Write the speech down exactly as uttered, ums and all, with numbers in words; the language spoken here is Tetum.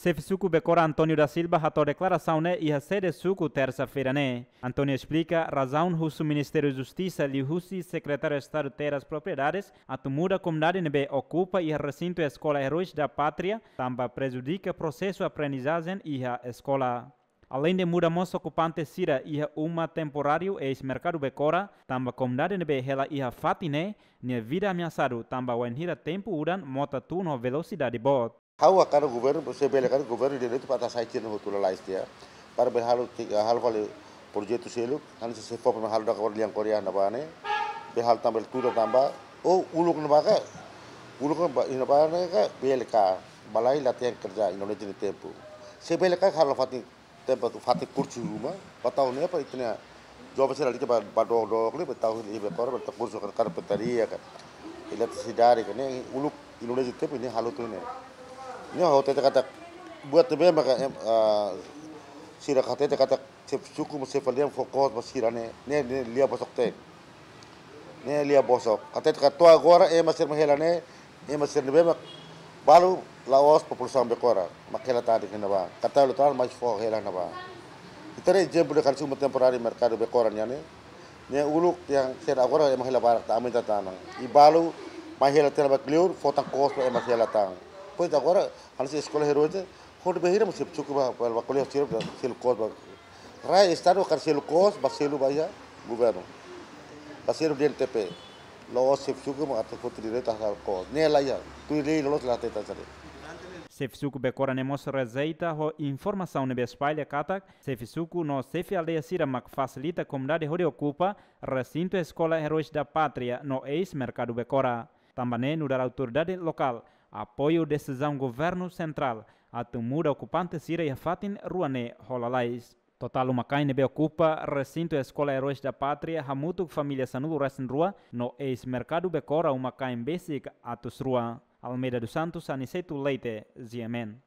Xefe suku Becora António da Silva hato'o deklarasaun ne'e iha sede suku tersa-feira ne'e. António esplika razaun husu Ministériu Justisa liuhusi Sekretáriu Estadu Terras Propriedades atu muda komunidade ne'ebé okupa iha resintu Eskola Heróis da Pátria, tanba prejudika prosesu aprendizajen iha eskola. Aleinde muda mós okupante sira iha uma temporáriu eis Merkadu Becora, tanba komunidade ne'ebé hela iha fatin ne'e, nia vida ameasadu tanba wainhira tempu udan mota tun ho velosidade boot. Ha'u hakarak governu, se bele karik governu direitu para atu sai tiha hotu lalais tiha. Para bele halo, halo fali projetu seluk, hanesan se fó para halo dak lian Korea ne'ebá ne'e. Bele halo tanba tuda tanba, o uluk ne'ebá ka, uluk ne'ebá, ne'ebá ne'e ka, bele ka, balai latihan kerja, Indonézia nia tempu. Se bele ka halo fatin tempu atu fatin kursu ruma, ba tau ne'e para ita-nia joven sira lalika ba, ba dook-dook ne'e, ba tau iha Becora, ba tau kursu ka karpintaria ka, eletrisidade ka, ne'e uluk Indonézia tempu ne'e halo tuir ne'e. Ne'e ha'u hatete katak, buat ne'ebé maka, em, ah, sira hatete katak xefe suku mós xefe aldeia fokus ba sira ne'e, ne'e, ne'e lia bosok-teen. Ne'e lia bosok. Hatete katak to'o agora ema sira mak hela ne'e, ema sira ne'ebé mak balu la'ós populasaun Becora, mak hela tan de'it iha ne'ebá. Katak hela tan, mas fó hela iha ne'ebá. Ita haree ezemplu de karik uma temporáriu Merkadu Becora nian ne'e. Ne'e uluk tiha sira, agora ema hela barak tan, aumenta tan. I balu mai hela tan ba kleur, fó tan kos ba ema hela tan. Pois agora, hanesan Eskola Heróis, hodi bainhira mak xefe suku ba, ba, ba ko'alia sira, selu kos ba. Rai Estadu hakarak selu kos, ba selu ba iha governu. Ba selu D N T P. La'ós xefe suku mak atu foti direitu halo kos. Ne'e laiha. Tuir lei loloos la hatete hanesan ne'e. Xefe suku Becora ne'e mós rejeita ho informasaun ne'ebé espalla katak xefe suku no xefe aldeia sira mak fasilita komunidade hodi okupa resintu Eskola Heróis da Pátria no eis Merkadu Becora. Tanba ne'e nu'udar autoridade lokál apoia desizaun governu sentrál atu muda okupante sira iha fatin rua ne'e ho lalais. Totál uma-kain ne'ebé okupa resintu Eskola Heróis da Pátria hamutuk família sanulu-resin-rua no eis Merkadu Becora uma-kain besik atus rua. Almeida dos Santos, Aniceto Leite, G M N.